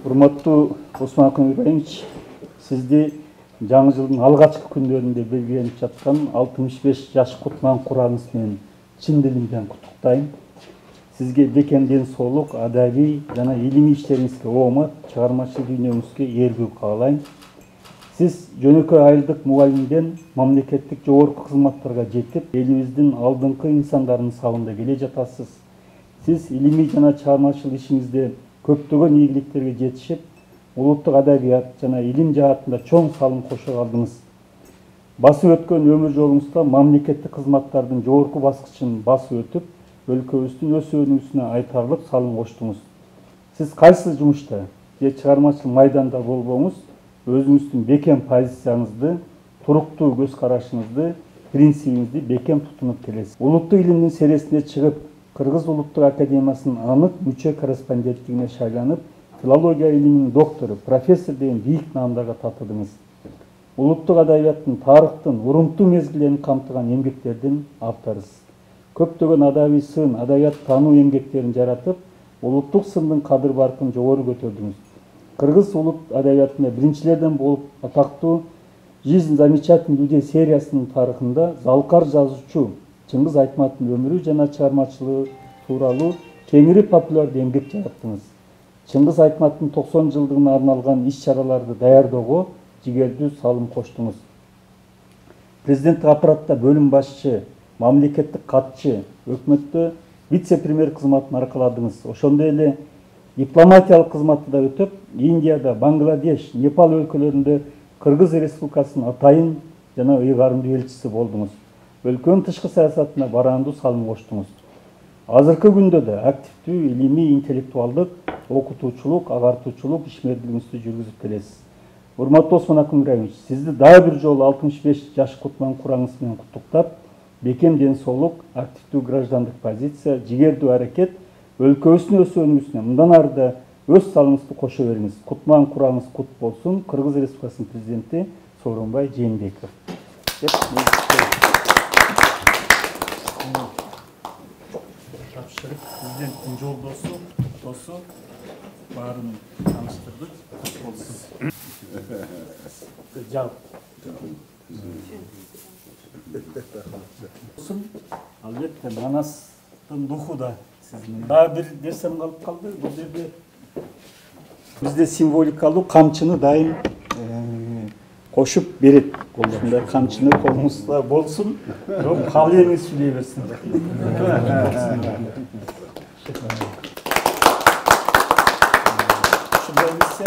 Урматтуу Осмонакул Ибраимович, сизди жаңы жылдын алгачкы күндөрүндө белгиленип жаткан 65 жаш кутман курагыңыз менен чын дилимден куттуктайм. Сизге бекем ден соолук, адабий жана илимий иштериңизге оомат, чыгармачыл дүйнөңүзгө ийгилик каалайм. Сиз жөнөкөй айылдык мугалимден мамлекеттик жогорку кызматтарга жетип, элибиздин алдыңкы инсандарынын сабында келе жатасыз. Сиз илимий жана чыгармачыл ишиңизде көптөгөн ийгиликтерге жетишип, улуттук адабият жана илим жаатында чоң салым кошо калдыңыз. Басып өткөн өмүр жолуңузда мамлекеттик кызматтардын жогорку баскычын басып өтүп, өлкөбүздүн өсүүнүнө айтарлык салым коштуңуз. Сиз кайсы жумушта же чыгармачыл майданда болбоңуз, өзүңүздүн бекем позицияңызды, туруктуу көз карашыңызды, принцибиңизди бекем тутунуп келесиз. Улуттук илимдин сересине чыгып, Кыргыз Улуттук Академиясынын анык мүчө корреспонденттигине шайланып, филология илиминин доктору, профессор деген бийик наамдарга татыдыңыз. Улуттук адабияттын тарыхтын урунтуу мезгилдерин камтыган эмгектердин авторусуз. Көптөгөн адабий сын, адабият таануу эмгектерин жаратып, улуттук сындын кадыр баркын жогору көтөрдүңүз. Кыргыз улут адабиятында биринчилерден болуп атактуу «Жизнь замечательных людей» сериясынын тарыхында залкар жазуучу Чыңгыз Айтматтын өмүрү жана чыгармачылыгы тууралуу кеңири популярдуу эмгек жараттыңыз. Чыңгыз Айтматтын 90 жылдыгына арналган иш-чараларды даярдоого жигердүү салым коштуңуз. Президенттик аппаратта бөлүм башчы, мамлекеттик катчы, өкмөттө вице-премьер кызматын аркаладыңыз. Ошондой эле дипломатиялык кызматты да өтөп, Индияда, Бангладеш, Непал өлкөлөрүндө Кыргыз Республикасынын атайын жана ыйгарымдуу элчиси болдуңуз. Өлкөнүн тышкы саясатына бараандуу салым коштуңуз. Азыркы күндө да активдүү илимий, интеллектуалдык, окутуучулук, агартуучулук ишмердигиңизди жүргүзүп келесиз. Урматтуу Осмонакул Ибраимович, сизди дагы бир жолу 65 жаш кутман курагыңыз менен куттуктап, бекем ден соолук, активдүү граждандык позиция, жигердүү аракет, өлкөбүздүн өсүүнүнө мындан ары да өз салымыңызды кошо бериңиз. Кутман курагыңыз кут болсун. Кыргыз Республикасынын президенти Сооронбай Жээнбеков. Тапшырып, президенттин жолдосу, досу баарын тааныштырдык. Болсун. Жал. Албетте, Манастын духу да сиздин. Дагы бир нерсем калып калды. Бул жерде бизде символикалуу камчыны дайым кошуп берет. Ушундай камчыны колуңузда болсун. Бирок калеңиз сүйлөй берсин. Ушундай нерсе